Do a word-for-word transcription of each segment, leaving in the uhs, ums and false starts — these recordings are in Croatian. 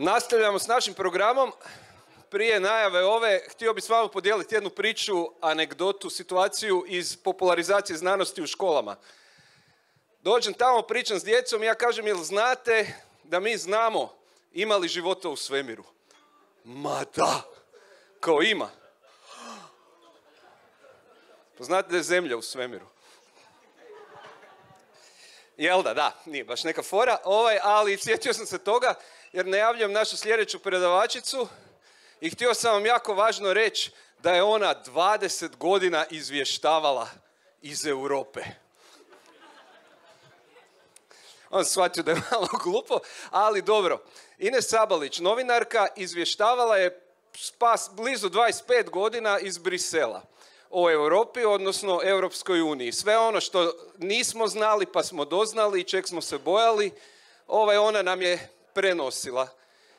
Nastavljamo s našim programom. Prije najave ove, htio bih s vama podijeliti jednu priču, anegdotu, situaciju iz popularizacije znanosti u školama. Dođem tamo, pričam s djecom i ja kažem, jel znate da mi znamo ima li života u svemiru? Ma da, kao ima. Pa znate da je Zemlja u svemiru? Jel da, da, nije baš neka fora, ovaj, ali sjetio sam se toga jer najavljam našu sljedeću predavačicu i htio sam vam jako važno reći da je ona dvadeset godina izvještavala iz Europe. On shvatio da je malo glupo, ali dobro. Ines Sabalić, novinarka, izvještavala je spas blizu dvadeset pet godina iz Brisela o Europi, odnosno Europskoj uniji. Sve ono što nismo znali pa smo doznali i čeg smo se bojali, ovaj, ona nam je prenosila.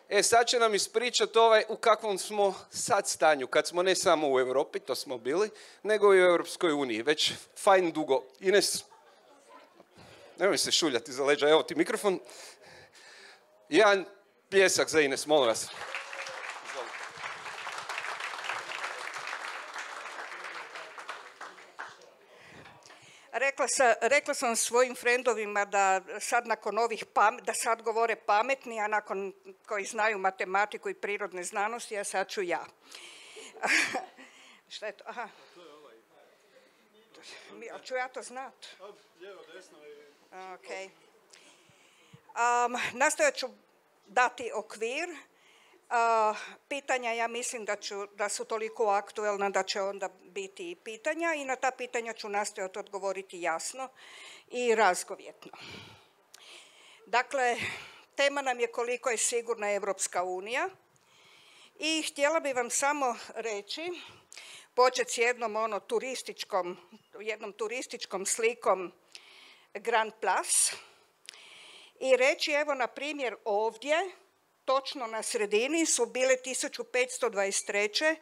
E, sad će nam ispričati ovaj u kakvom smo sad stanju, kad smo ne samo u Europi, to smo bili, nego i u Europskoj uniji, već fajn dugo. Ines, nemoj se šuljati za leđa, evo ti mikrofon. Jedan pljesak za Ines, molim vas. Rekla, sa, rekla sam svojim frendovima da sad nakon ovih pam, da sad govore pametni, a nakon koji znaju matematiku i prirodne znanosti, a sad ću ja. Šta je to? Aha. Ali ću ja to znat? Lijevo, desno i... Ok. Um, nastojat ću dati okvir. Uh, pitanja, ja mislim da, ću, da su toliko aktuelna da će onda biti i pitanja i na ta pitanja ću nastojati odgovoriti jasno i razgovjetno. Dakle, tema nam je koliko je sigurna Evropska unija i htjela bih vam samo reći, početi s jednom ono turističkom, jednom turističkom slikom Grand Place i reći evo na primjer ovdje, točno na sredini su bile tisuću petsto dvadeset treće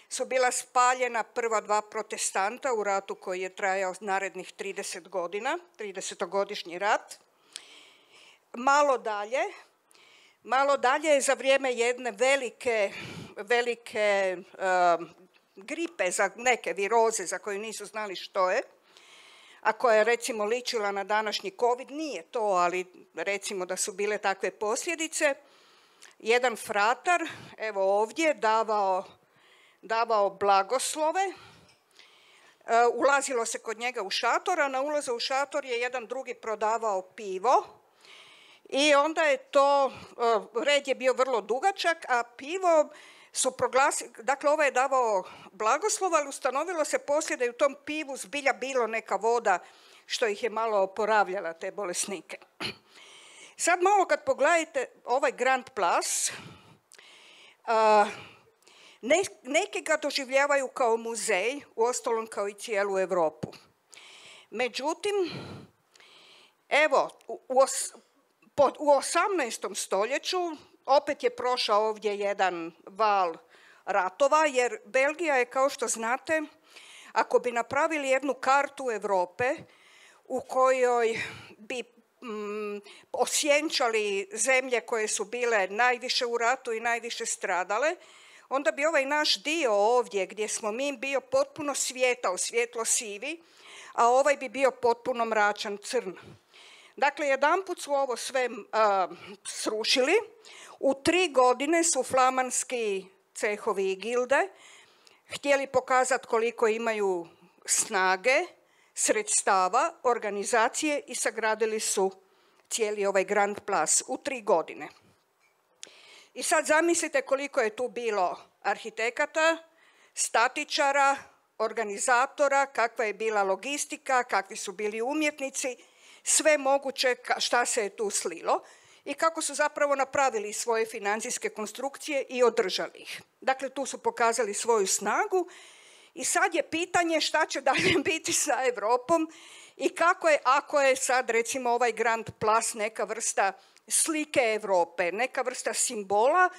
su bila spaljena prva dva protestanta u ratu koji je trajao narednih trideset godina, tridesetogodišnji rat. Malo dalje, malo dalje je za vrijeme jedne velike, velike uh, gripe, za neke viroze za koju nisu znali što je, a koja je recimo ličila na današnji COVID, nije to, ali recimo da su bile takve posljedice, jedan fratar, evo ovdje, davao, davao blagoslove, e, ulazilo se kod njega u šator, a na ulazu u šator je jedan drugi prodavao pivo i onda je to, e, red je bio vrlo dugačak, a pivo su proglasili, dakle ovaj je davao blagoslov, ali ustanovilo se poslije da je u tom pivu zbilja bilo neka voda što ih je malo oporavljala, te bolesnike. Sad malo kad pogledajte ovaj Grand Place, uh, ne, neki ga doživljavaju kao muzej, uostalom kao i cijelu Europu. Međutim, evo, u, u, os, po, u osamnaestom stoljeću opet je prošao ovdje jedan val ratova, jer Belgija je, kao što znate, ako bi napravili jednu kartu Europe u kojoj bi Mm, osjenčali zemlje koje su bile najviše u ratu i najviše stradale, onda bi ovaj naš dio ovdje gdje smo mi bio potpuno svijetao, svjetlo sivi, a ovaj bi bio potpuno mračan, crn. Dakle, jedanput su ovo sve uh, srušili, u tri godine su flamanski cehovi i gilde htjeli pokazati koliko imaju snage, sredstava, organizacije i sagradili su cijeli ovaj Grand Place u tri godine. I sad zamislite koliko je tu bilo arhitekata, statičara, organizatora, kakva je bila logistika, kakvi su bili umjetnici, sve moguće šta se je tu slilo i kako su zapravo napravili svoje financijske konstrukcije i održali ih. Dakle, tu su pokazali svoju snagu. I sad je pitanje šta će dalje biti sa Europom i kako je, ako je sad recimo ovaj Grand Place neka vrsta slike Europe, neka vrsta simbola,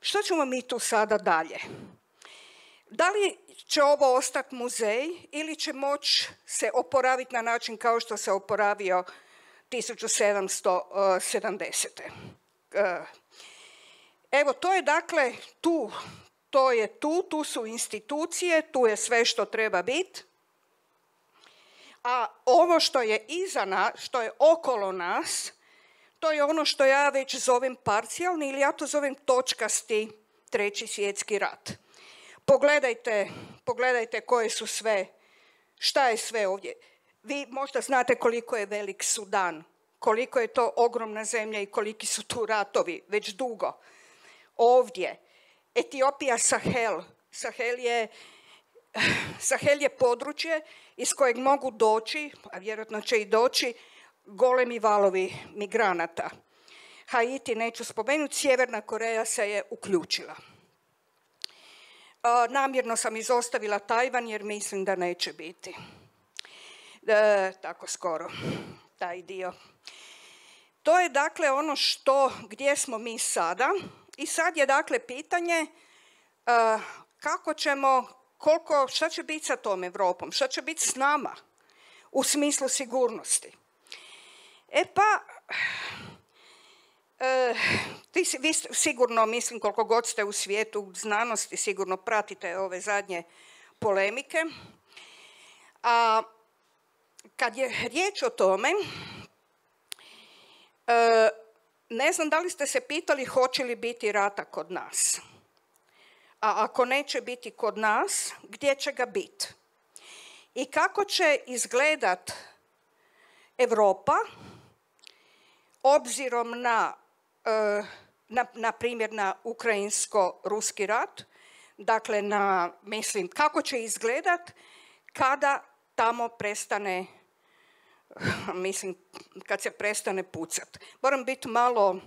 što ćemo mi tu sada dalje? Da li će ovo ostati muzej ili će moći se oporaviti na način kao što se oporavio tisuću sedamsto sedamdesete. Evo, to je dakle tu, to je tu, tu su institucije, tu je sve što treba biti. A ovo što je iza nas, što je okolo nas, to je ono što ja već zovem parcijalni ili ja to zovem točkasti treći svjetski rat. Pogledajte, pogledajte koje su sve, šta je sve ovdje. Vi možda znate koliko je velik Sudan, koliko je to ogromna zemlja i koliki su tu ratovi već dugo. Ovdje, Etiopija, Sahel. Sahel je, Sahel je područje iz kojeg mogu doći, a vjerojatno će i doći, golemi valovi migranata. Haiti neću spomenuti, Sjeverna Koreja se je uključila. A, namjerno sam izostavila Tajvan jer mislim da neće biti. E, tako skoro, taj dio. To je dakle ono što, gdje smo mi sada. I sad je dakle pitanje uh, kako ćemo, koliko, šta će biti sa tom Europom, šta će biti s nama u smislu sigurnosti. E pa, uh, vi, vi sigurno, mislim koliko god ste u svijetu znanosti, sigurno pratite ove zadnje polemike. A kad je riječ o tome, uh, ne znam da li ste se pitali hoće li biti rata kod nas. A ako neće biti kod nas, gdje će ga biti? I kako će izgledat Europa obzirom na, na, na primjer, na ukrajinsko-ruski rat, dakle, na, mislim, kako će izgledat kada tamo prestane, mislim, kad se prestane pucat. Moram biti malo,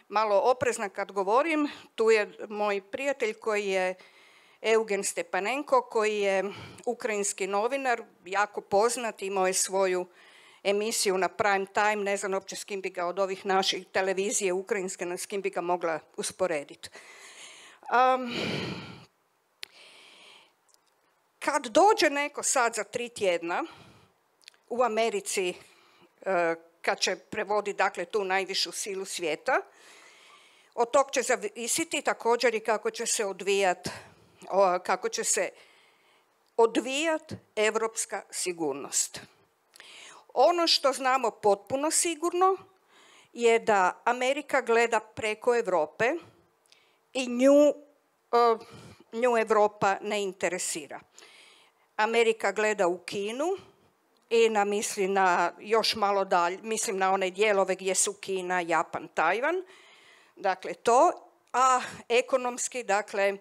malo oprezna kad govorim. Tu je moj prijatelj koji je Eugen Stepanenko, koji je ukrajinski novinar, jako poznat, imao je svoju emisiju na prime time, ne znam uopće s kim bi ga od ovih naših televizije ukrajinske, s kim bi ga mogla usporediti. Um, kad dođe neko sad za tri tjedna u Americi, kad će prevoditi dakle, tu najvišu silu svijeta, od tog će zavisiti također i kako će se odvijat, kako će se odvijat europska sigurnost. Ono što znamo potpuno sigurno je da Amerika gleda preko Europe i nju, nju Europa ne interesira. Amerika gleda u Kinu i na, misli na još malo dalje, mislim na one dijelove gdje su Kina, Japan, Tajvan, dakle to, a ekonomski, dakle,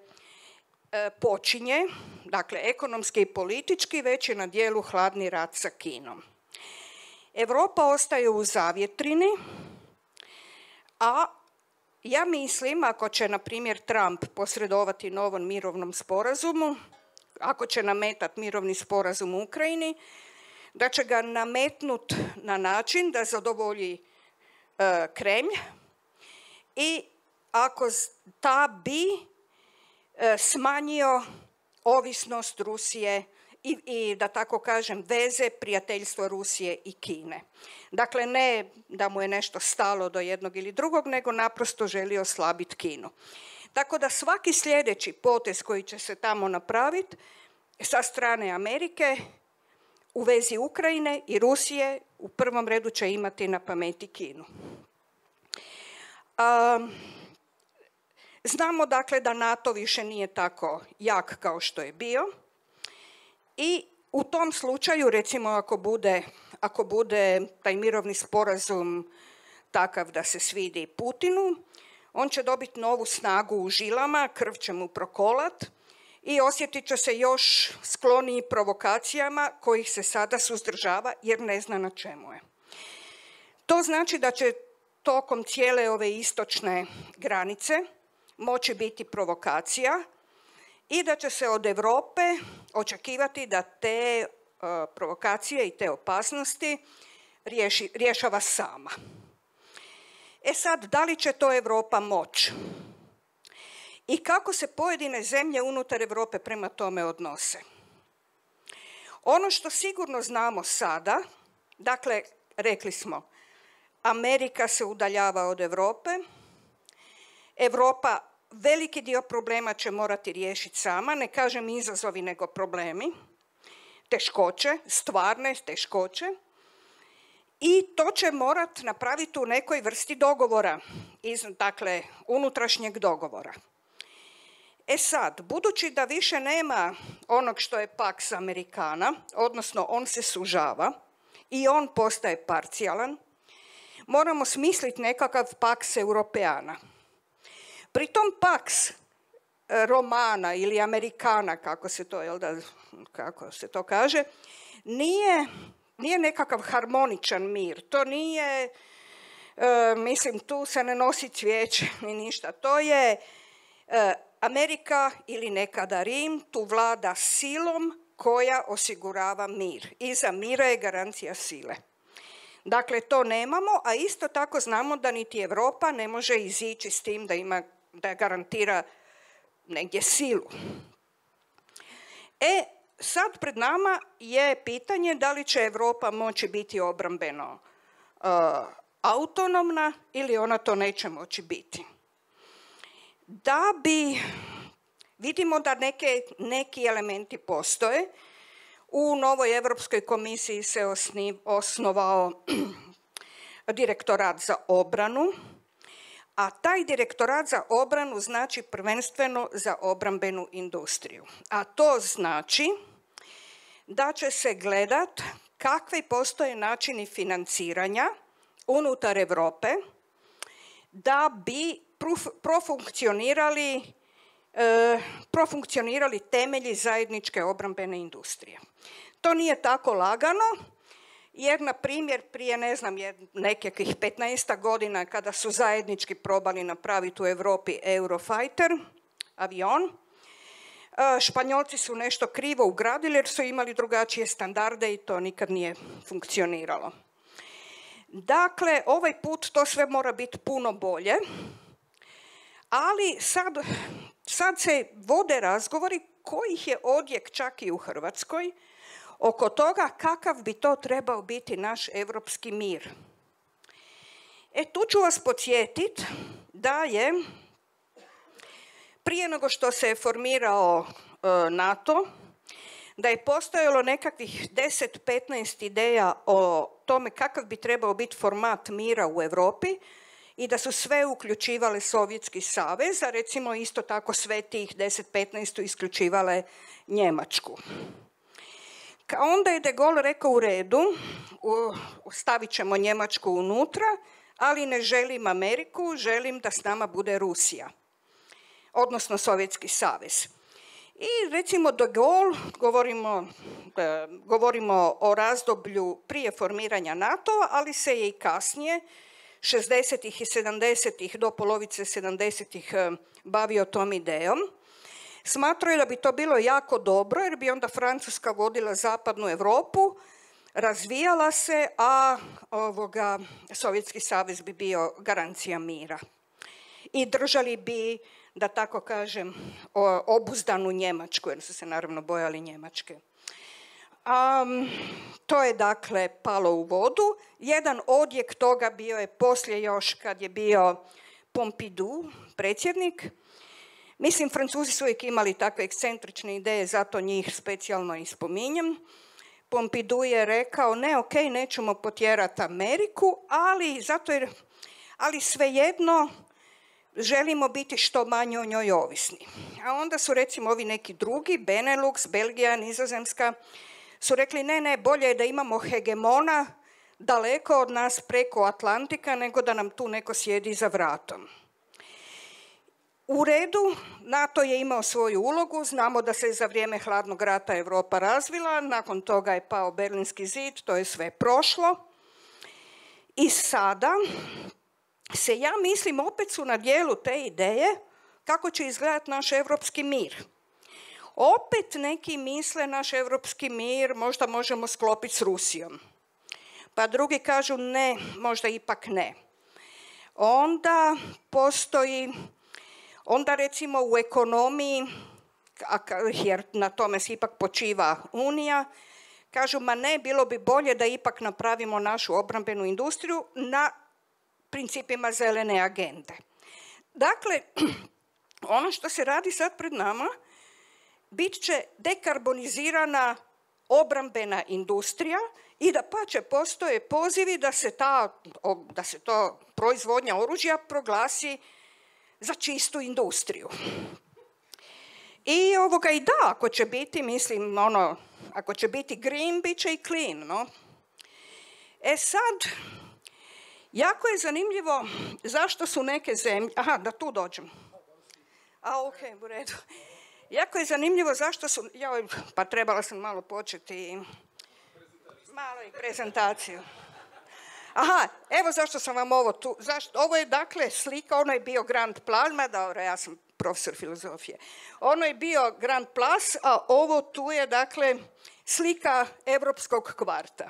počinje, dakle, ekonomski i politički već je na dijelu hladni rat sa Kinom. Europa ostaje u zavjetrini, a ja mislim, ako će, na primjer, Trump posredovati novom mirovnom sporazumu, ako će nametati mirovni sporazum u Ukrajini, da će ga nametnut na način da zadovolji e, Kremlj i ako ta bi e, smanjio ovisnost Rusije i, i, da tako kažem, veze, prijateljstvo Rusije i Kine. Dakle, ne da mu je nešto stalo do jednog ili drugog, nego naprosto želi oslabiti Kinu. Tako da svaki sljedeći potez koji će se tamo napraviti sa strane Amerike u vezi Ukrajine i Rusije u prvom redu će imati na pameti Kinu. Um, znamo dakle da NATO više nije tako jak kao što je bio i u tom slučaju, recimo ako bude, ako bude taj mirovni sporazum takav da se svidi Putinu, on će dobiti novu snagu u žilama, krv će mu prokolat i osjetit će se još skloniji provokacijama kojih se sada suzdržava jer ne zna na čemu je. To znači da će tokom cijele ove istočne granice moći biti provokacija i da će se od Europe očekivati da te uh, provokacije i te opasnosti riješi, rješava sama. E sad, da li će to Europa moći? I kako se pojedine zemlje unutar Europe prema tome odnose? Ono što sigurno znamo sada, dakle, rekli smo, Amerika se udaljava od Europe, Europa veliki dio problema će morati riješiti sama, ne kažem izazovi nego problemi, teškoće, stvarne teškoće, i to će morati napraviti u nekoj vrsti dogovora, iz, dakle unutrašnjeg dogovora. E sad, budući da više nema onog što je Pax Americana, odnosno on se sužava i on postaje parcijalan, moramo smisliti nekakav Pax Europeana. Pri tom Pax Romana ili Americana, kako se to, jel da, kako se to kaže, nije, nije nekakav harmoničan mir. To nije, e, mislim, tu se ne nosi cvijeće ni ništa. To je e, Amerika ili nekada Rim, tu vlada silom koja osigurava mir. Iza mira je garancija sile. Dakle, to nemamo, a isto tako znamo da niti Europa ne može izići s tim da ima, da garantira negdje silu. E, sad pred nama je pitanje da li će Europa moći biti obrambeno uh, autonomna ili ona to neće moći biti. Da bi, vidimo da neke, neki elementi postoje. U novoj Europskoj komisiji se osni, osnovao direktorat za obranu, a taj direktorat za obranu znači prvenstveno za obrambenu industriju. A to znači da će se gledat kakvi postoje načini financiranja unutar Europe da bi profunkcionirali, e, profunkcionirali temelji zajedničke obrambene industrije. To nije tako lagano, jer, na primjer, prije, ne znam, nekakvih petnaest godina kada su zajednički probali napraviti u Europi Eurofighter, avion, Španjolci su nešto krivo ugradili jer su imali drugačije standarde i to nikad nije funkcioniralo. Dakle, ovaj put to sve mora biti puno bolje, ali sad, sad se vode razgovori kojih je odjek čak i u Hrvatskoj oko toga kakav bi to trebao biti naš europski mir. E, tu ću vas podsjetiti da je prije nego što se je formirao e, NATO, da je postojalo nekakvih deset do petnaest ideja o tome kakav bi trebao biti format mira u Europi i da su sve uključivale Sovjetski savez, a recimo isto tako sve tih deset do petnaest isključivale Njemačku. Onda je de Gaulle rekao u redu, stavit ćemo Njemačku unutra, ali ne želim Ameriku, želim da s nama bude Rusija, odnosno Sovjetski savez. I recimo de Gaulle, govorimo, govorimo o razdoblju prije formiranja NATO-a, ali se je i kasnije, šezdesetih i sedamdesetih do polovice sedamdesetih bavio tom idejom. Smatrao je da bi to bilo jako dobro jer bi onda Francuska vodila zapadnu Europu, razvijala se, a ovoga, Sovjetski savez bi bio garancija mira. I držali bi, da tako kažem, obuzdanu Njemačku, jer su se naravno bojali Njemačke. Um, to je dakle palo u vodu. Jedan odjek toga bio je poslije još kad je bio Pompidou, predsjednik. Mislim, Francuzi su uvijek imali takve ekscentrične ideje, zato njih specijalno i spominjem. Pompidou je rekao, ne, ok, nećemo potjerati Ameriku, ali, zato jer, ali svejedno želimo biti što manje o njoj ovisni. A onda su recimo ovi neki drugi, Benelux, Belgija, Nizozemska, su rekli ne, ne, bolje je da imamo hegemona daleko od nas preko Atlantika nego da nam tu neko sjedi za vratom. U redu, NATO je imao svoju ulogu, znamo da se za vrijeme hladnog rata Europa razvila, nakon toga je pao Berlinski zid, to je sve prošlo. I sada se, ja mislim, opet su na dijelu te ideje kako će izgledati naš europski mir. Opet neki misle naš europski mir možda možemo sklopiti s Rusijom. Pa drugi kažu ne, možda ipak ne. Onda postoji, onda recimo u ekonomiji, jer na tome se ipak počiva Unija, kažu ma ne, bilo bi bolje da ipak napravimo našu obrambenu industriju na principima zelene agende. Dakle, ono što se radi sad pred nama, bit će dekarbonizirana obrambena industrija i da pače postoje pozivi da se ta, da se to proizvodnja oružja proglasi za čistu industriju. I ovoga i da, ako će biti, mislim, ono, ako će biti green, bit će i clean, no? E sad, jako je zanimljivo zašto su neke zemlje, aha, da tu dođem. A, ok, u redu. Jako je zanimljivo zašto su, joj, pa trebala sam malo početi, malo i prezentaciju. Aha, evo zašto sam vam ovo tu, zašto, ovo je dakle slika, ono je bio Grand Plasma, dobro, ja sam profesor filozofije. Ono je bio Grand Plas, a ovo tu je dakle slika Europskog kvarta.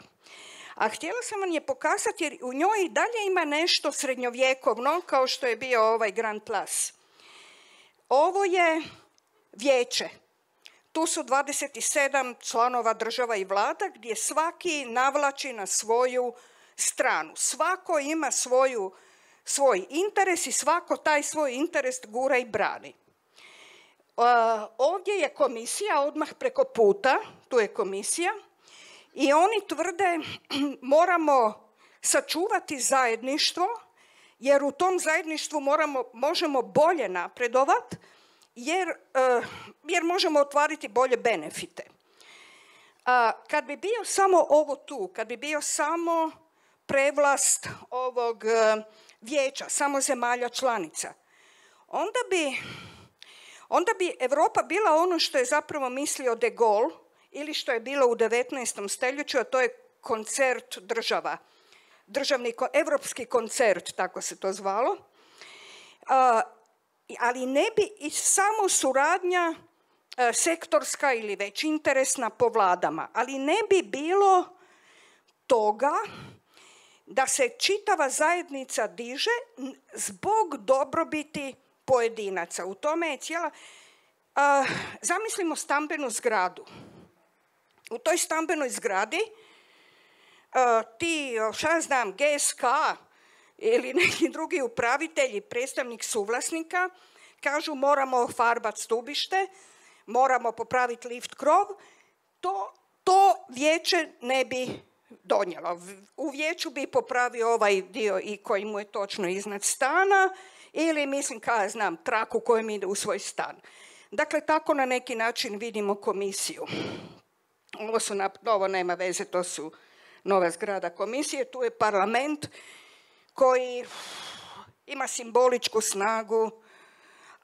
A htjela sam vam je pokazati jer u njoj i dalje ima nešto srednjovjekovno kao što je bio ovaj Grand Plas. Ovo je vijeće. Tu su dvadeset sedam članova država i vlada gdje svaki navlači na svoju stranu. Svako ima svoju, svoj interes i svako taj svoj interes gura i brani. Uh, ovdje je komisija, odmah preko puta, tu je komisija, i oni tvrde moramo sačuvati zajedništvo, jer u tom zajedništvu moramo, možemo bolje napredovati, jer, uh, jer možemo otvariti bolje benefite. Uh, kad bi bio samo ovo tu, kad bi bio samo prevlast ovog uh, vijeća, samo zemalja članica, onda bi, onda bi Europa bila ono što je zapravo mislio de Gaulle ili što je bilo u devetnaestom stoljeću, a to je koncert država. Državni, evropski koncert, tako se to zvalo. Uh, ali ne bi i samo suradnja uh, sektorska ili već interesna po vladama, ali ne bi bilo toga da se čitava zajednica diže zbog dobrobiti pojedinaca. U tome je cijela... Uh, zamislimo stambenu zgradu. U toj stambenoj zgradi uh, ti, šta ja znam, G S K ili neki drugi upravitelji, predstavnik suvlasnika, kažu moramo farbati stubište, moramo popraviti lift krov, to, to vijeće ne bi donijelo. U vijeću bi popravio ovaj dio i koji mu je točno iznad stana ili, mislim, kao ja znam, traku kojem ide u svoj stan. Dakle, tako na neki način vidimo komisiju. Ovo, su, ovo nema veze, to su nova zgrada komisije. Tu je parlament koji ima simboličku snagu,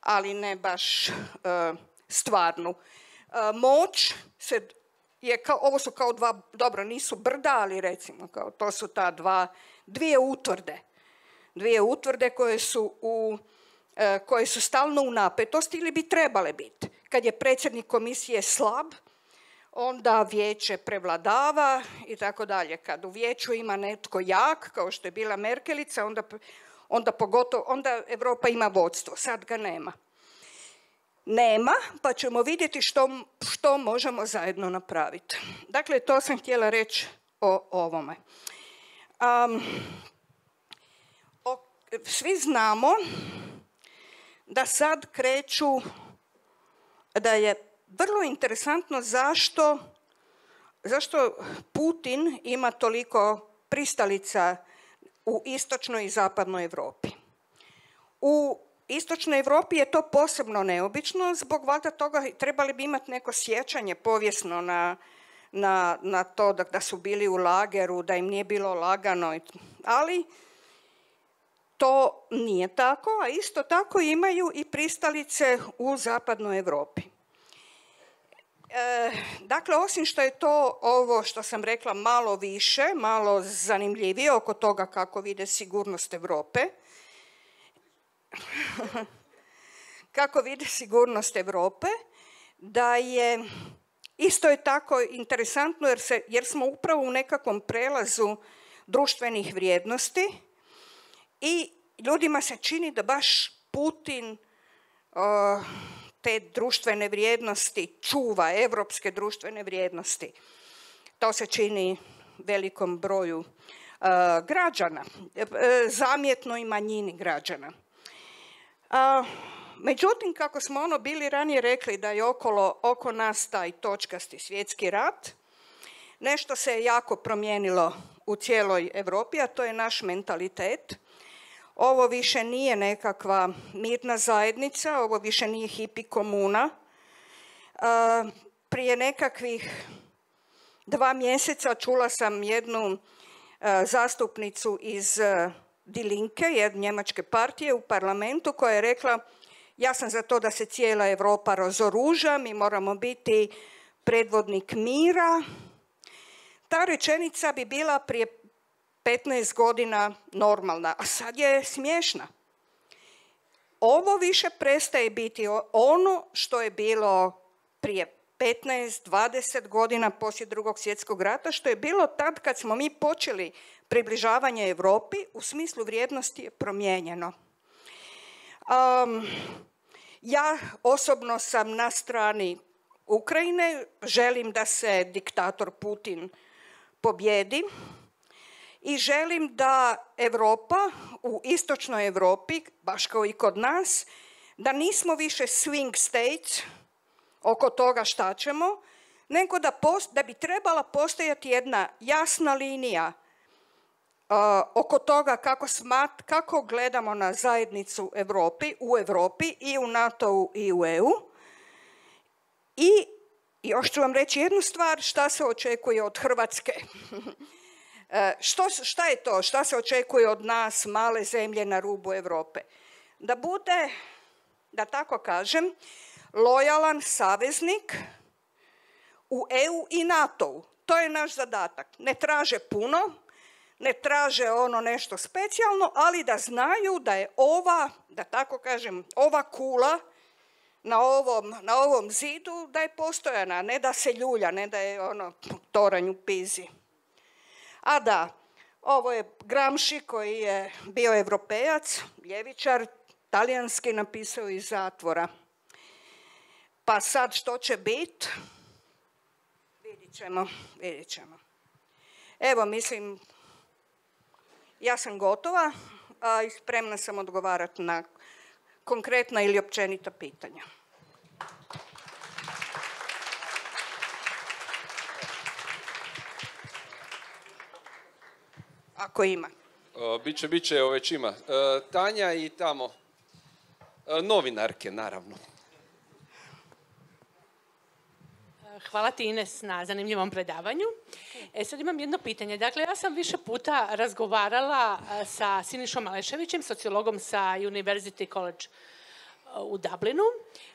ali ne baš uh, stvarnu. Uh, moć se je kao, ovo su kao dva, dobro, nisu brda, ali recimo, kao, to su ta dva, dvije utvrde. Dvije utvrde koje su, u, uh, koje su stalno u napetosti ili bi trebale biti. Kad je predsjednik komisije slab, onda vijeće prevladava i tako dalje. Kad u vijeću ima netko jak, kao što je bila Merkelica, onda, onda pogotovo, onda Europa ima vodstvo. Sad ga nema. Nema, pa ćemo vidjeti što, što možemo zajedno napraviti. Dakle, to sam htjela reći o ovome. Um, o, svi znamo da sad kreću, da je vrlo interesantno zašto, zašto Putin ima toliko pristalica u istočnoj i zapadnoj Europi. U istočnoj Europi je to posebno neobično, zbog valjda toga trebali bi imati neko sjećanje povijesno na, na, na to da, da su bili u lageru, da im nije bilo lagano, ali to nije tako, a isto tako imaju i pristalice u zapadnoj Europi. E, dakle, osim što je to ovo što sam rekla malo više, malo zanimljivije oko toga kako vide sigurnost Europe, kako vide sigurnost Europe, da je isto je tako interesantno jer, se, jer smo upravo u nekakvom prelazu društvenih vrijednosti i ljudima se čini da baš Putin uh, te društvene vrijednosti čuva, evropske društvene vrijednosti. To se čini velikom broju uh, građana, uh, zamjetnoj manjini građana. A, međutim, kako smo ono bili ranije rekli da je okolo, oko nas taj točkasti svjetski rat, nešto se je jako promijenilo u cijeloj Europi, a to je naš mentalitet. Ovo više nije nekakva mirna zajednica, ovo više nije hipi komuna. A, prije nekakvih dva mjeseca čula sam jednu a, zastupnicu iz a, Die Linke, jedne njemačke partije u parlamentu, koja je rekla: ja sam za to da se cijela Europa razoruža, mi moramo biti predvodnik mira. Ta rečenica bi bila prije petnaest godina normalna, a sad je smiješna. Ovo više prestaje biti ono što je bilo prije petnaest, dvadeset godina poslije Drugog svjetskog rata, što je bilo tad kad smo mi počeli približavanje Europi, u smislu vrijednosti je promijenjeno. Um, ja osobno sam na strani Ukrajine, želim da se diktator Putin pobjedi i želim da Europa u istočnoj Europi, baš kao i kod nas, da nismo više swing states oko toga šta ćemo, nego da, post, da bi trebala postojati jedna jasna linija uh, oko toga kako, smat, kako gledamo na zajednicu Europi, u Europi i u NATO-u i u E U. I još ću vam reći jednu stvar, šta se očekuje od Hrvatske. Što, šta je to? Šta se očekuje od nas, male zemlje na rubu Europe? Da bude, da tako kažem, lojalan saveznik u E U i NATO-u. To je naš zadatak. Ne traže puno, ne traže ono nešto specijalno, ali da znaju da je ova, da tako kažem, ova kula na ovom, na ovom zidu, da je postojana, ne da se ljulja, ne da je ono toranj u Pizi. A da, ovo je Gramsci koji je bio Europejac, ljevičar, talijanski, napisao iz zatvora. Pa sad što će biti? Vidit ćemo, vidit ćemo. Evo, mislim, ja sam gotova, a i spremna sam odgovarati na konkretna ili općenita pitanja. Ako ima. Uh, biće, biće, evo već ima. Uh, Tanja i tamo. Uh, novinarke, naravno. Hvala ti, Ines, na zanimljivom predavanju. E, sad imam jedno pitanje. Dakle, ja sam više puta razgovarala sa Sinišom Aleševićem, sociologom sa University College u Dublinu,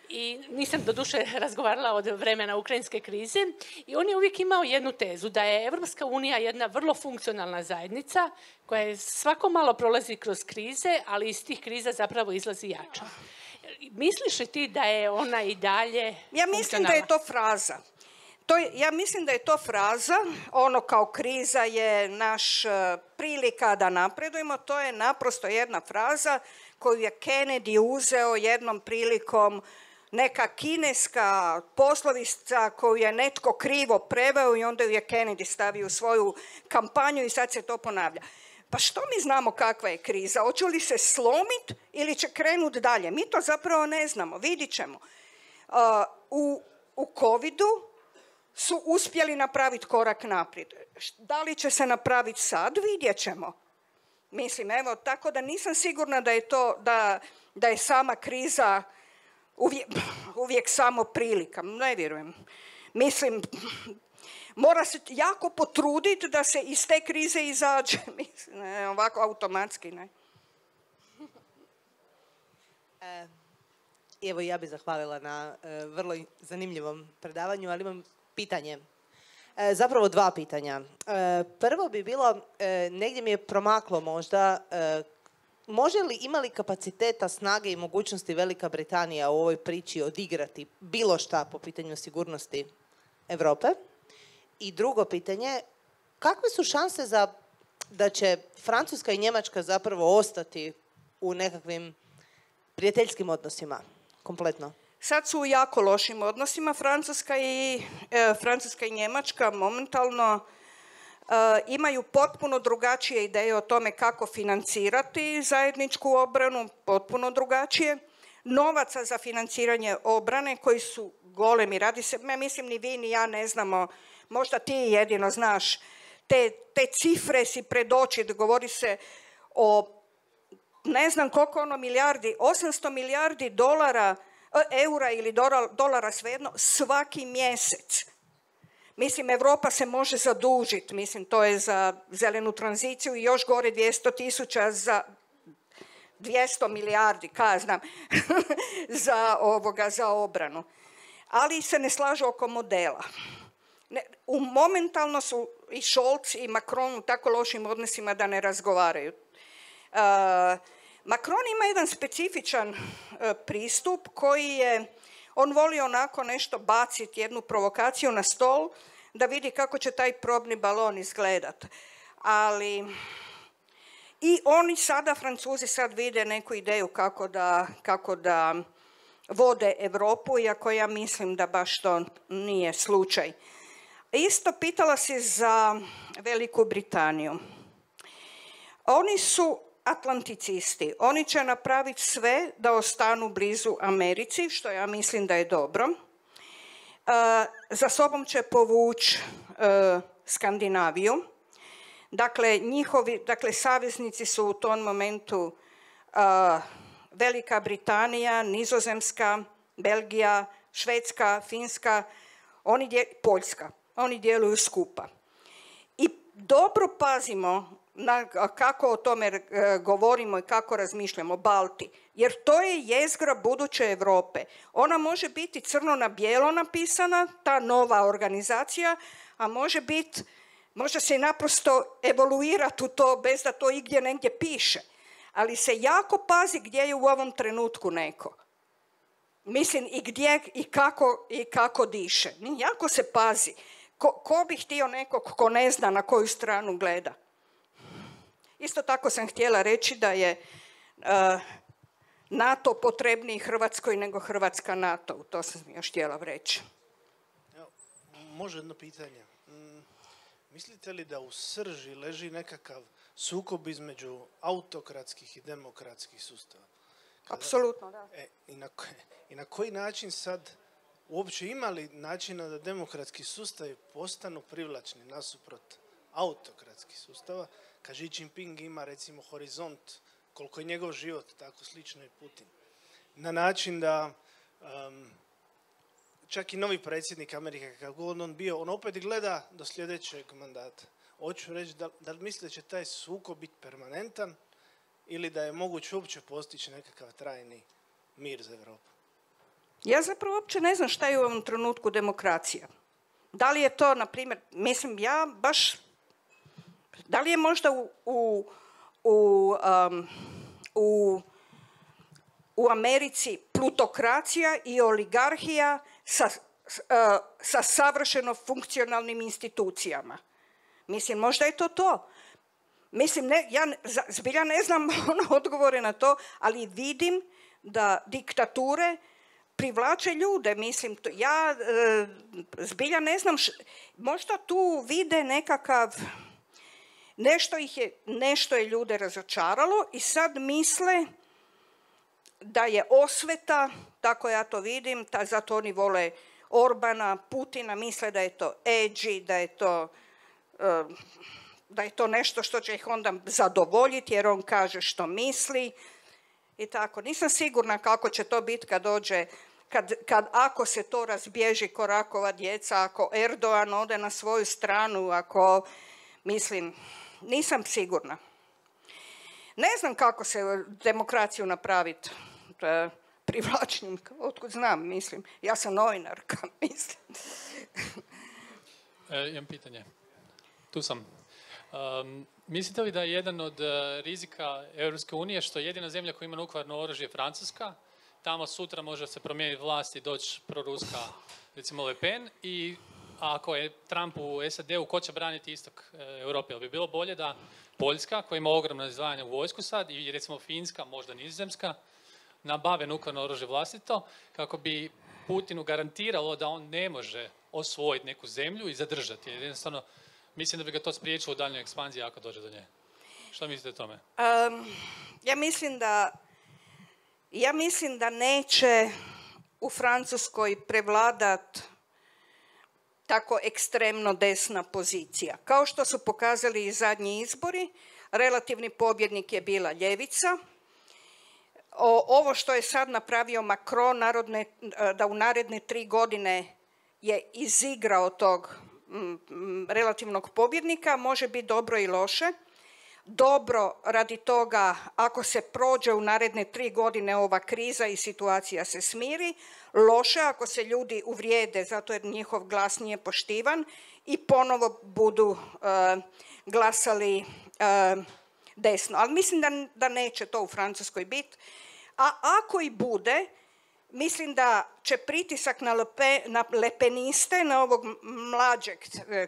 i nisam doduše razgovarala od vremena ukrajinske krize, i on je uvijek imao jednu tezu, da je Evropska unija jedna vrlo funkcionalna zajednica koja je svako malo prolazi kroz krize, ali iz tih kriza zapravo izlazi jača. Misliš li ti da je ona i dalje Ja mislim da je to fraza. To je, ja mislim da je to fraza, ono kao kriza je naš uh, prilika da napredujemo, to je naprosto jedna fraza koju je Kennedy uzeo jednom prilikom, neka kineska poslovica koju je netko krivo preveo i onda ju je Kennedy stavio u svoju kampanju i sad se to ponavlja. Pa što mi znamo kakva je kriza? Hoće li se slomiti ili će krenuti dalje? Mi to zapravo ne znamo, vidit ćemo. Uh, u, u covidu su uspjeli napraviti korak naprijed. Da li će se napraviti sad, vidjet ćemo. Mislim, evo, tako da nisam sigurna da je to, da, da je sama kriza uvijek, uvijek samo prilika. Ne vjerujem. Mislim, mora se jako potruditi da se iz te krize izađe. Mislim, ne, ovako automatski, ne. E, evo, ja bih zahvalila na e, vrlo zanimljivom predavanju, ali imam pitanje. E, zapravo dva pitanja. E, prvo bi bilo, e, negdje mi je promaklo možda, e, može li, ima li kapaciteta, snage i mogućnosti Velika Britanija u ovoj priči odigrati bilo šta po pitanju sigurnosti Europe? I drugo pitanje, kakve su šanse za, da će Francuska i Njemačka zapravo ostati u nekakvim prijateljskim odnosima kompletno? Sad su u jako lošim odnosima. Francuska i, e, Francuska i Njemačka momentalno imaju potpuno drugačije ideje o tome kako financirati zajedničku obranu, potpuno drugačije. Novaca za financiranje obrane koji su golemi, radi se, ja mislim ni vi ni ja ne znamo, možda ti jedino znaš, te, te cifre si pred oči, govori se o ne znam koliko ono milijardi, osamsto milijardi dolara, eura ili dolara svejedno, svaki mjesec. Mislim, Europa se može zadužiti, mislim, to je za zelenu tranziciju i još gore dvjesto tisuća za dvjesto milijardi, kaj znam, za, ovoga, za obranu. Ali se ne slažu oko modela. Ne, u momentalno su i Scholz i Macron u tako lošim odnosima da ne razgovaraju. Uh, Macron ima jedan specifičan uh, pristup koji je, on voli onako nešto baciti, jednu provokaciju na stol, da vidi kako će taj probni balon izgledat. Ali i oni sada, Francuzi sad vide neku ideju kako da, kako da vode Europu, iako ja mislim da baš to nije slučaj. Isto pitala si za Veliku Britaniju. Oni su atlanticisti. Oni će napraviti sve da ostanu blizu Americi, što ja mislim da je dobro. Uh, za sobom će povući uh, Skandinaviju. Dakle, njihovi, dakle, saveznici su u tom momentu uh, Velika Britanija, Nizozemska, Belgija, Švedska, Finska, oni dje, Poljska. Oni djeluju skupa. I dobro pazimo na kako o tome uh, govorimo i kako razmišljamo, Balti, jer to je jezgra buduće Europe. Ona može biti crno na bijelo napisana, ta nova organizacija, a može biti, može se naprosto evoluirati u to bez da to igdje negdje piše. Ali se jako pazi gdje je u ovom trenutku neko. Mislim, i gdje i kako, i kako diše. Jako se pazi. Ko, ko bi htio nekog ko ne zna na koju stranu gleda? Isto tako sam htjela reći da je uh, NATO potrebniji Hrvatskoj nego Hrvatska NATO. To sam još htjela reći. Evo, može jedno pitanje. Mm, mislite li da u srži leži nekakav sukob između autokratskih i demokratskih sustava? Kada, apsolutno, da. E, i, na, I na koji način sad uopće ima li načina da demokratski sustavi postanu privlačni nasuprot autokratskih sustava? Kad Xi Jinping ima recimo horizont, koliko je njegov život, tako slično i Putin. Na način da um, čak i novi predsjednik Amerike, kako god on bio, on opet gleda do sljedećeg mandata. Hoću reći, da, da li mislite da će taj sukob biti permanentan ili da je moguće uopće postići nekakav trajni mir za Europu? Ja zapravo uopće ne znam šta je u ovom trenutku demokracija. Da li je to, na primjer, mislim, ja baš, da li je možda u, u, u, um, u, u Americi plutokracija i oligarhija sa, uh, sa savršeno funkcionalnim institucijama? Mislim, možda je to to. Mislim, ne, ja zbilja ne znam ono odgovore na to, ali vidim da diktature privlače ljude. Mislim, to, ja e, zbilja ne znam, š, možda tu vide nekakav, nešto ih je, nešto je ljude razočaralo i sad misle da je osveta, tako ja to vidim, ta, zato oni vole Orbana, Putina, misle da je to edgy, da je to... E, da je to nešto što će ih onda zadovoljiti jer on kaže što misli i tako. Nisam sigurna kako će to biti kad dođe, kad, kad ako se to razbježi ko rakova djeca, ako Erdogan ode na svoju stranu, ako, mislim, nisam sigurna. Ne znam kako se demokraciju napraviti privlačnim, otkud znam, mislim. Ja sam novinarka, mislim. E, imam pitanje. Tu sam. Um, mislite li da je jedan od uh, rizika Europske unije što je jedina zemlja koja ima nuklearno oružje Francuska, tamo sutra može se promijeniti vlast i doći proruska, recimo Le Pen, i ako je Trump u S A D-u, ko će braniti istok uh, Europe? Jel bi bilo bolje da Poljska, koja ima ogromno izdvajanje u vojsku sad, i recimo Finska, možda Nizozemska, nabave nuklearno oružje vlastito, kako bi Putinu garantiralo da on ne može osvojiti neku zemlju i zadržati. Jer jednostavno, mislim da bi ga to spriječilo u daljnjoj ekspanziji ako dođe do nje. Što mislite o tome? Um, ja mislim da ja mislim da neće u Francuskoj prevladat tako ekstremno desna pozicija. Kao što su pokazali i zadnji izbori, relativni pobjednik je bila ljevica. O, ovo što je sad napravio Macron, narodne, da u naredne tri godine je izigrao tog m, relativnog pobjednika, može biti dobro i loše. Dobro radi toga ako se prođe u naredne tri godine ova kriza i situacija se smiri, loše ako se ljudi uvrijede zato jer njihov glas nije poštivan i ponovo budu uh, glasali uh, desno. Ali mislim da, da neće to u Francuskoj biti. A ako i bude, mislim da će pritisak na, lepe, na lepeniste, na ovog mlađeg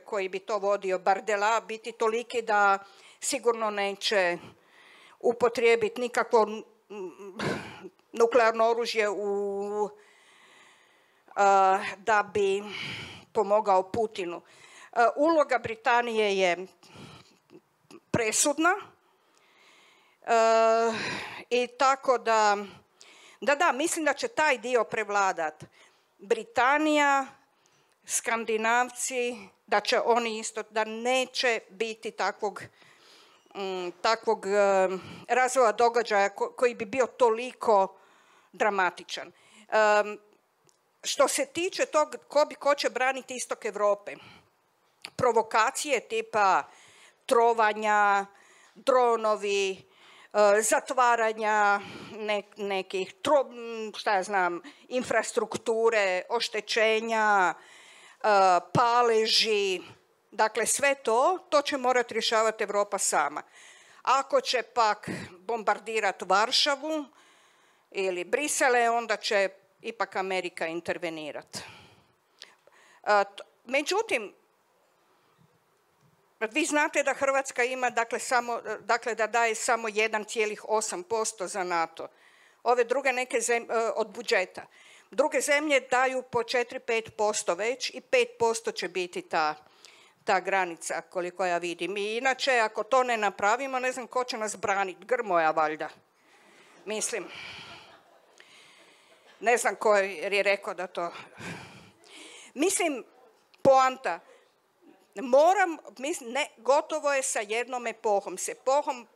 koji bi to vodio, Bardella, biti toliki da sigurno neće upotrijebiti nikakvo nuklearno oružje u, uh, da bi pomogao Putinu. Uh, uloga Britanije je presudna uh, i tako da, da, da, mislim da će taj dio prevladat. Britanija, Skandinavci, da će oni isto, da neće biti takvog takvog razvoja događaja koji bi bio toliko dramatičan. Što se tiče tog ko, bi, ko će braniti istok Europe, provokacije tipa trovanja, dronovi, zatvaranja ne, nekih, tro, šta ja znam, infrastrukture, oštećenja, paleži, dakle, sve to, to će morati rješavati Europa sama. Ako će pak bombardirati Varšavu ili Brisele, onda će ipak Amerika intervenirati. Međutim, vi znate da Hrvatska ima, dakle, samo, dakle da daje samo jedan zarez osam posto za NATO. Ove druge neke zemlje, od budžeta. Druge zemlje daju po četiri do pet posto već i pet posto će biti ta ta granica, koliko ja vidim. I inače, ako to ne napravimo, ne znam ko će nas braniti. Grmoja, valjda. Mislim. Ne znam ko je rekao da to... Mislim, poanta. Moram, mislim, ne, gotovo je sa jednom epohom. S epohom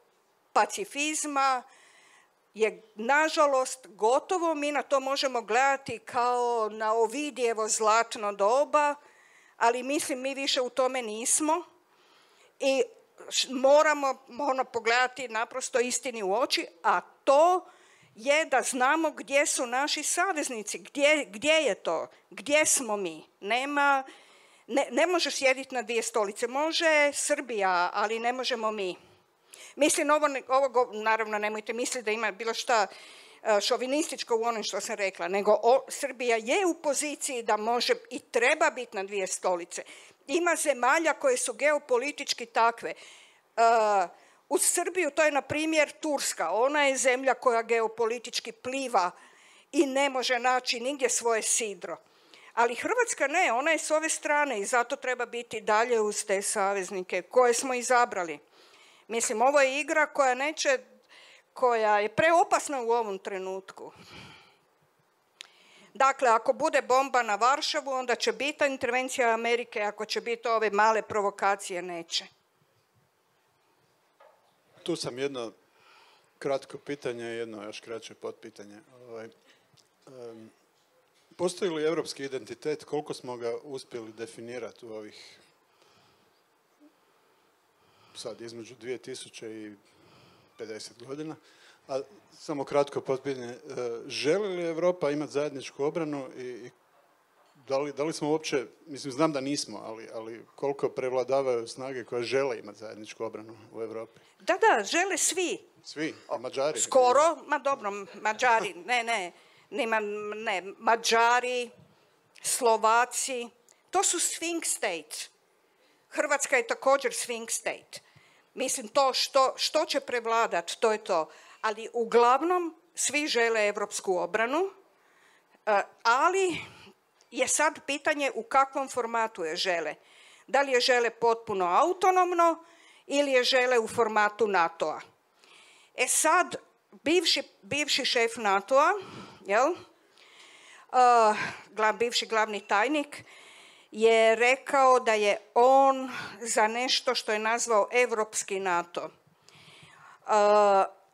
pacifizma je, nažalost, gotovo. Mi na to možemo gledati kao na Ovidijevo zlatno doba, ali mislim mi više u tome nismo i moramo ono, pogledati naprosto istini u oči, a to je da znamo gdje su naši saveznici, gdje, gdje je to, gdje smo mi. Nema, ne, ne može sjediti na dvije stolice, može Srbija, ali ne možemo mi. Mislim, ovo, ovo naravno nemojte misliti da ima bilo šta šovinističko u onom što sam rekla, nego o, Srbija je u poziciji da može i treba biti na dvije stolice. Ima zemalja koje su geopolitički takve. Uh, uz Srbiju to je, na primjer, Turska. Ona je zemlja koja geopolitički pliva i ne može naći nigdje svoje sidro. Ali Hrvatska ne, ona je s ove strane i zato treba biti dalje uz te saveznike koje smo izabrali. Mislim, ovo je igra koja neće koja je preopasna u ovom trenutku. Dakle, ako bude bomba na Varšavu, onda će biti intervencija Amerike, ako će biti ove male provokacije, neće. Tu sam jedno kratko pitanje i jedno još kraće potpitanje. Ovaj, um, postoji li europski identitet, koliko smo ga uspjeli definirati u ovih sad između dvije tisuće i pedeset godina, a samo kratko potpitanje, želi li Europa imati zajedničku obranu i da li, da li smo uopće, mislim znam da nismo, ali, ali koliko prevladavaju snage koje žele imati zajedničku obranu u Europi? Da, da, žele svi. Svi, a Mađari? Skoro, ma dobro, Mađari, ne, ne, nema, ne, Mađari, Slovaci, to su swing states. Hrvatska je također swing state. Mislim, to što, što će prevladat, to je to. Ali uglavnom svi žele evropsku obranu, ali je sad pitanje u kakvom formatu je žele. Da li je žele potpuno autonomno ili je žele u formatu NATO-a. E sad, bivši, bivši šef NATO-a, jel, uh, glav, bivši glavni tajnik, je rekao da je on za nešto što je nazvao Europski NATO. Uh,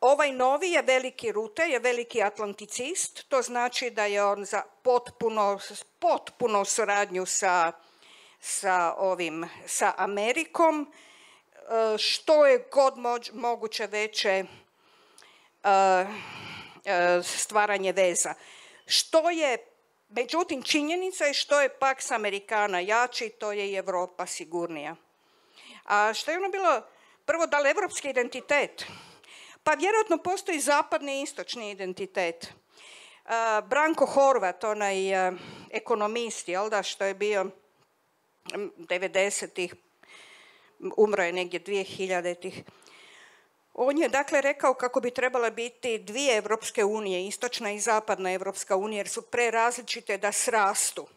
ovaj novi je veliki rute, je veliki atlanticist, to znači da je on za potpuno, potpuno suradnju sa, sa, ovim, sa Amerikom, uh, što je god moć, moguće veće uh, uh, stvaranje veza. Što je Međutim, činjenica je što je Pax Americana jači, to je i Europa sigurnija. A što je ono bilo, prvo, da li evropski identitet? Pa vjerojatno postoji zapadni i istočni identitet. Uh, Branko Horvat, onaj uh, ekonomist, jel da, što je bio devedesetih, umro je negdje dvije hiljaditih. On je dakle rekao kako bi trebala biti dvije Evropske unije, istočna i zapadna Evropska unija, jer su prerazličite da srastu.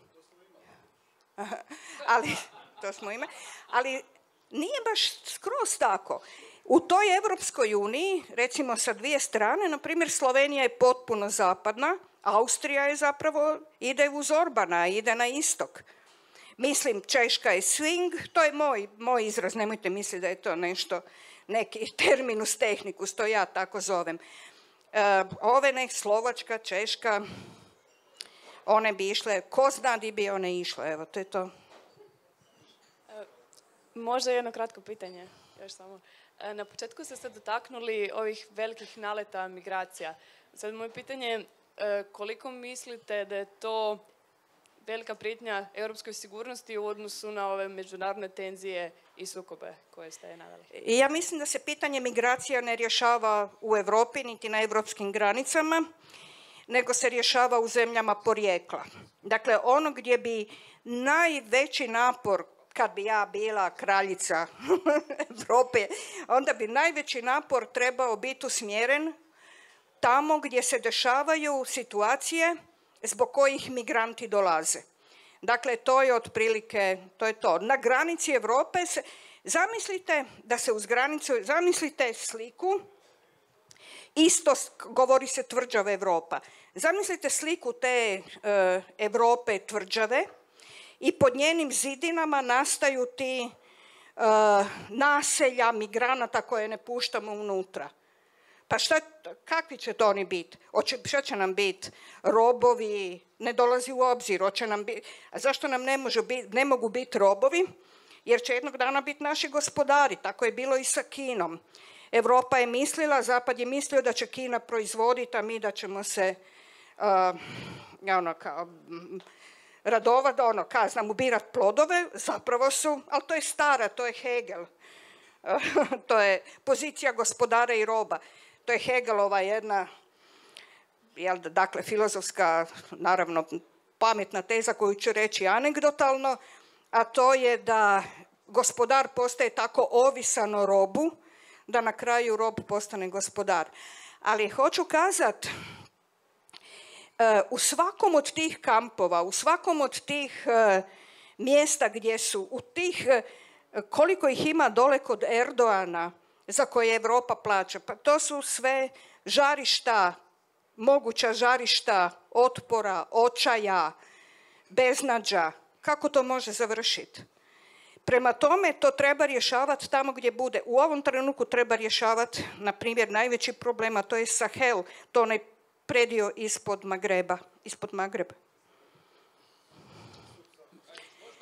Ali, to smo imali, ali nije baš skroz tako. U toj Evropskoj uniji, recimo sa dvije strane, na primjer Slovenija je potpuno zapadna, Austrija je zapravo, ide uz Orbana, ide na istok. Mislim, Češka je swing, to je moj, moj izraz, nemojte misliti da je to nešto, neki terminus tehnicus, to ja tako zovem. E, ove nek Slovačka, Češka, one bi išle, ko zna di bi one išle, evo, to je to. E, možda jedno kratko pitanje, još samo. E, na početku ste se dotaknuli ovih velikih naleta migracija. Sad moje pitanje, e, koliko mislite da je to velika prijetnja europskoj sigurnosti u odnosu na ove međunarodne tenzije i sukobe koje ste naveli? Ja mislim da se pitanje migracija ne rješava u Europi niti na europskim granicama, nego se rješava u zemljama porijekla. Dakle, ono gdje bi najveći napor, kad bi ja bila kraljica Europe, onda bi najveći napor trebao biti usmjeren tamo gdje se dešavaju situacije zbog kojih migranti dolaze. Dakle, to je otprilike, to je to. Na granici Europe se, zamislite da se uz granicu, zamislite sliku, isto govori se tvrđava Europa. Zamislite sliku te e, Europe tvrđave i pod njenim zidinama nastaju ti e, naselja migranata koje ne puštamo unutra. Pa šta, kakvi će to oni biti? Šta će nam biti? Robovi, ne dolazi u obzir. Hoće nam biti, a zašto nam ne, može biti, ne mogu biti robovi? Jer će jednog dana biti naši gospodari. Tako je bilo i sa Kinom. Europa je mislila, Zapad je mislio da će Kina proizvoditi, a mi da ćemo se uh, ono, kao, radovat, ono, kao, znam, ubirat plodove. Zapravo su, ali to je stara, to je Hegel. To je pozicija gospodara i roba. To je Hegelova jedna, jel, dakle, filozofska, naravno, pametna teza koju ću reći anegdotalno, a to je da gospodar postaje tako ovisan o robu, da na kraju rob postane gospodar. Ali hoću kazat, u svakom od tih kampova, u svakom od tih mjesta gdje su, u tih, koliko ih ima dole kod Erdoana, za koje Europa plaća. Pa to su sve žarišta, moguća žarišta otpora, očaja, beznađa. Kako to može završiti? Prema tome, to treba rješavati tamo gdje bude. U ovom trenutku treba rješavati, na primjer, najveći problem, a to je Sahel, to onaj predio ispod Magreba, ispod Magreba.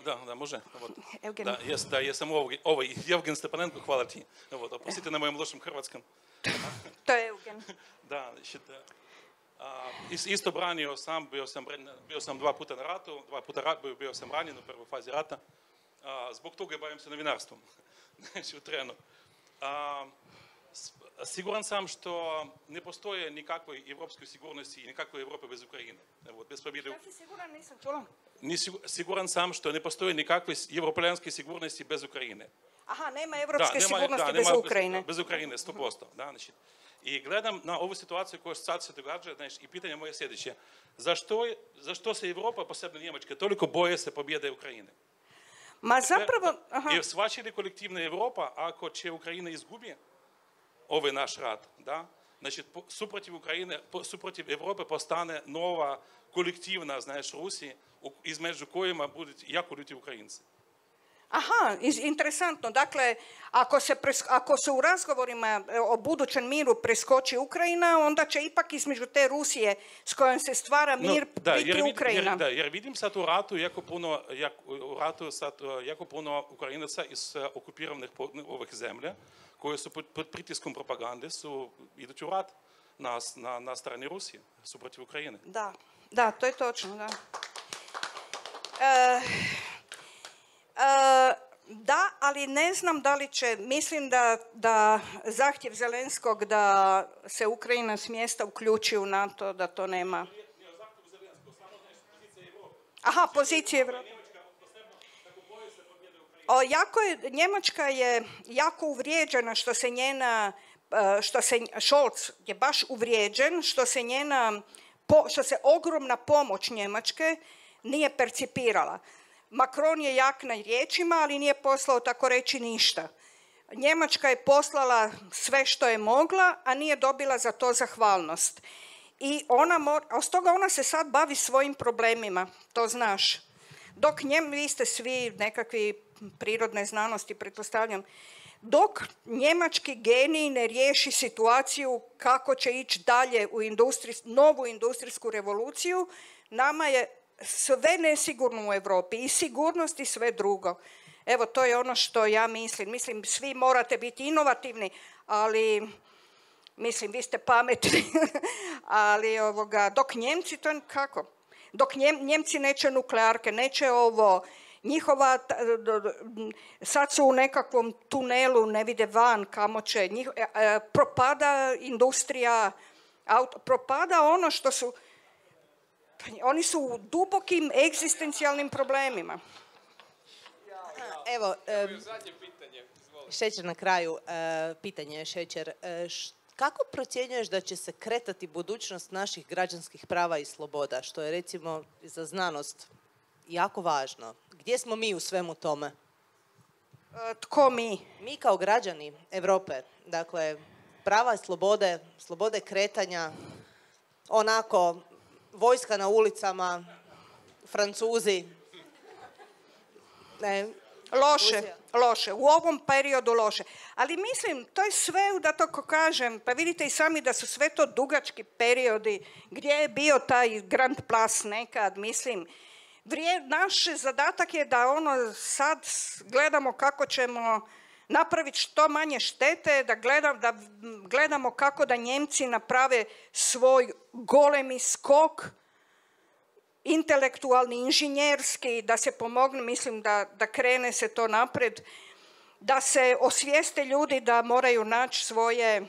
Da, da, može. Da, jes, da, jesam ovo, ovo Evgen Stepanenko, hvala ti. Evo, oprostite na mojem lošem hrvatskom. To je Evgen. Da, a, isto branio sam, bio sam, bio sam dva puta na ratu, dva puta rat, bio, bio sam ranjen u prvoj fazi rata. A, zbog toga bavim se novinarstvom. Znači, u trenu. A, siguran sam što ne postoje nikakve evropske sigurnosti i nikakve Evrope bez Ukrajine. Evo, bez pobjede... Ja si siguran, nisam čula. Siguran sam što ne postoje nikakve evropljanske sigurnosti bez Ukrajine. Aha, nema evropske da, nema, sigurnosti da, bez nema Ukrajine. Bez, bez Ukrajine, sto posto. Da, znači. I gledam na ovu situaciju koja sad se događa, znači, i pitanje moje sljedeće. Zašto, zašto se Evropa, posebno Njemačka, toliko boje se pobjede Ukrajine? Ma zapravo... Aha. Jer shvaća li kolektivna Evropa ako će Ukrajina izgubi ovaj naš rat, da? Znači, suprotiv Ukrajine, suprotiv Evrope postane nova kolektivna, znaš, Rusija, između kojima budu jako ljuti Ukrajinci. Aha, interesantno. Dakle, ako se, pres, ako se u razgovorima o budućem miru preskoči Ukrajina, onda će ipak između te Rusije s kojom se stvara mir no, da, biti jer, Ukrajina. Jer, da, jer vidim sad u ratu jako puno, jak, u ratu sad jako puno Ukrajinaca iz okupiranih ovih zemlja, koje su pod, pod pritiskom propagande, su idući u rat na, na, na strani Rusije, su protiv Ukrajine. Da, da, to je točno, da. E, e, da, ali ne znam da li će, mislim da, da zahtjev Zelenskog da se Ukrajina smjesta uključi u NATO, da to nema. Aha, pozicije Evrope. O, jako je, Njemačka je jako uvrijeđena što se njena, što se, Scholz je baš uvrijeđen, što se njena, što se ogromna pomoć Njemačke nije percipirala. Macron je jak na riječima, ali nije poslao tako reći ništa. Njemačka je poslala sve što je mogla, a nije dobila za to zahvalnost. I ona mora, a s toga ona se sad bavi svojim problemima, to znaš. Dok njem, vi ste svi nekakvi prirodne znanosti, pretpostavljam, dok njemački genij ne riješi situaciju kako će ići dalje u industri, novu industrijsku revoluciju, nama je sve nesigurno u Europi, i sigurnost i sve drugo. Evo, to je ono što ja mislim. Mislim, svi morate biti inovativni, ali, mislim, vi ste pametni, ali ovoga, dok Njemci to kako? Dok Njem, Njemci neće nuklearke, neće ovo, njihova, sad su u nekakvom tunelu, ne vide van kamo će, njih, propada industrija, auto, propada ono što su, oni su u dubokim egzistencijalnim problemima. Evo, um, Šećer na kraju, uh, pitanje Šećer. Uh, š, kako procjenjuješ da će se kretati budućnost naših građanskih prava i sloboda, što je recimo za znanost jako važno? Gdje smo mi u svemu tome? Uh, tko mi? Mi kao građani Europe, dakle, prava i slobode, slobode kretanja, onako, vojska na ulicama, Francuzi. Ne, loše, Rusija. loše. U ovom periodu loše. Ali mislim, to je sve, da to ko kažem, pa vidite i sami da su sve to dugački periodi gdje je bio taj Grand Place nekad, mislim. Vrije, naš zadatak je da ono sad gledamo kako ćemo napraviti što manje štete, da, gledam, da gledamo kako da Njemci naprave svoj golemi skok, intelektualni, inženjerski, da se pomogne, mislim da, da krene se to napred, da se osvijeste ljudi da moraju naći svoje,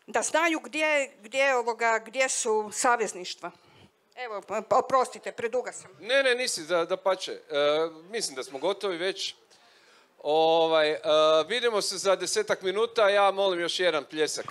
da znaju gdje, gdje, ovoga, gdje su savezništva. Evo, oprostite, preduga sam. Ne, ne, nisi, da, da pače. E, mislim da smo gotovi već. Ovaj, e, vidimo se za desetak minuta, ja molim još jedan pljesak.